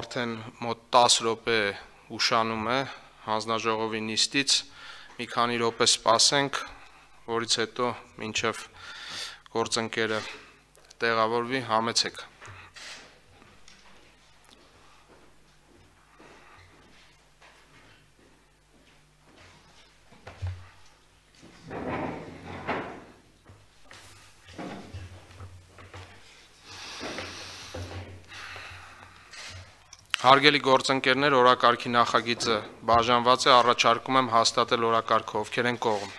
արդեն մոտ 10 րոպե ուշանում է հանձնաժողովի նիստից, մի քանի րոպե սպասենք, որից հետո մինչև գործընկերը տեղավորվի, համեցեք։ Հարգելի գործընկերներ, օրակարգի նախագիծը բաժանված է, առաջարկում եմ հաստատել օրակարգը, ովքեր են կողմ։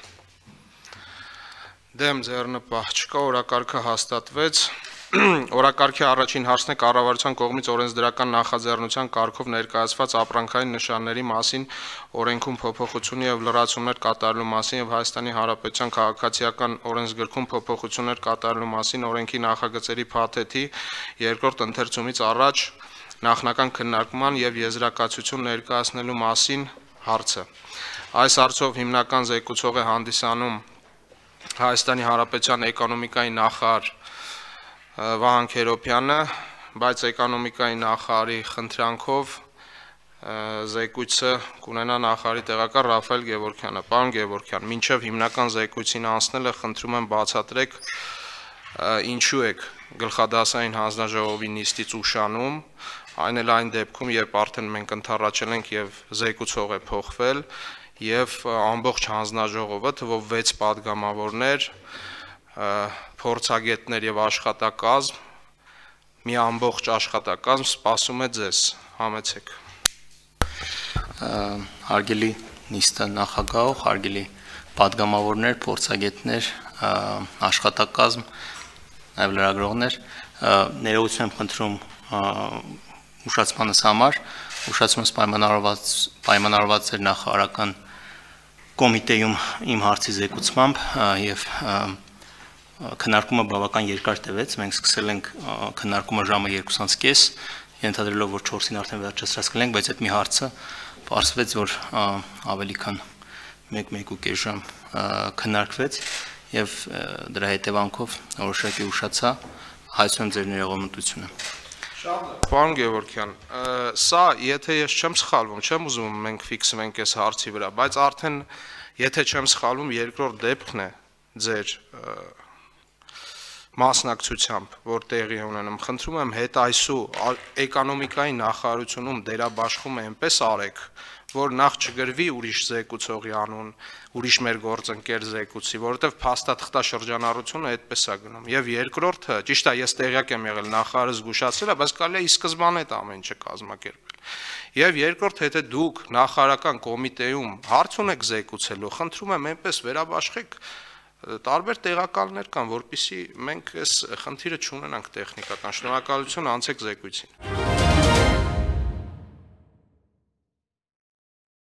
Դեմ ձեռնպահ չկա, օրակարգը հաստատվեց։ Օրակարգի առաջին հարցն է կառավարության կողմից օրենսդրական նախաձեռնության կարգով ներկայացված ապրանքային նշանների մասին օրենքում փոփոխություն եւ լրացումներ կատարելու մասին եւ Հայաստանի Հանրապետության քաղաքացիական օրենսգրքում փոփոխություններ կատարելու մասին օրենքի նախագծերի փաթեթի երկրորդ ընթերցումից առաջ նախնական քննարկման եւ եզրակացություն ներկայացնելու մասին հարցը։ Այս հարցով հիմնական զեկուցող է հանդիսանում Հայաստանի Հանրապետության էկոնոմիկայի նախարար Վահան Քերոբյանը, բայց էկոնոմիկայի նախարարի խնդրանքով զեկույցը կունենա նախարարի տեղակալ Ռաֆայել Գևորգյանը։ Պարոն Գևորգյան, մինչև հիմնական զեկույցին անցնելը խնդրում եմ բացատրեք ինչու եք գլխադասային հանձնաժողովի նիստից ուշանում, այն էլ այն դեպքում, երբ արդեն մենք ընդառաջել ենք եւ զեկուցող է փոխվել եւ ամբողջ հանձնաժողովը թվով 6 падգամավորներ, փորձագետներ եւ աշխատակազմ, մի ամբողջ աշխատակազմ սպասում է ձեզ, համեցեք։ Հարգելի նիստը նախագահող, հարգելի падգամավորներ, փորձագետներ, աշխատակազմ, նաեւ լրագրողներ, ներողություն եմ խնդրում ուշացմանս համար, ուշացումս պայմանավորված էր նախարարական կոմիտեում իմ հարցի զեկուցմամբ եւ քննարկումը բավական երկար տևեց, մենք սկսել ենք քննարկումը ժամը 2:30, ենթադրելով որ 4-ին արդեն վերջացրած կլինենք, բայց այդ մի հարցը պարզվեց, որ ավելի քան 1-1.5 ժամ քննարկվեց եւ դրա հետևանքով որոշակի ուշացա, հայցում ձեր ներողամտությունը։ Պարոն Գևորգյան, սա, եթե ես չեմ սխալվում, չեմ ուզում մենք ֆիքսվենք այս հարցի վրա, բայց արդեն, եթե չեմ սխալվում, երկրորդ դեպքն է ձեր մասնակցությամբ, որ տեղի ունենում, խնդրում եմ հետ այսու էկոնոմիկայի նախարարությունում դերաբաշխումը այնպես արեք, որ նախ չգրվի ուրիշ զեկուցողի անուն, ուրիշ մեր գործընկեր զեկուցի, որովհետև փաստաթղթա շրջանառությունը այդպես է գնում։ Եվ երկրորդը, ճիշտ է, ես տեղյակ եմ եղել, նախարարը զգուշացրել է, բայց կարելի է ի սկզբանե այդ ամեն ինչը կազմակերպել։ Եվ երկրորդ, եթե դուք նախարարական կոմիտեում հարց ունեք զեկուցելու, խնդրում եմ այնպես վերաբաշխեք, տարբեր տեղակալներ կան, որպեսզի մենք այս խնդիրը չունենանք տեխնիկական։ Շնորհակալություն, անցեք զեկույցին։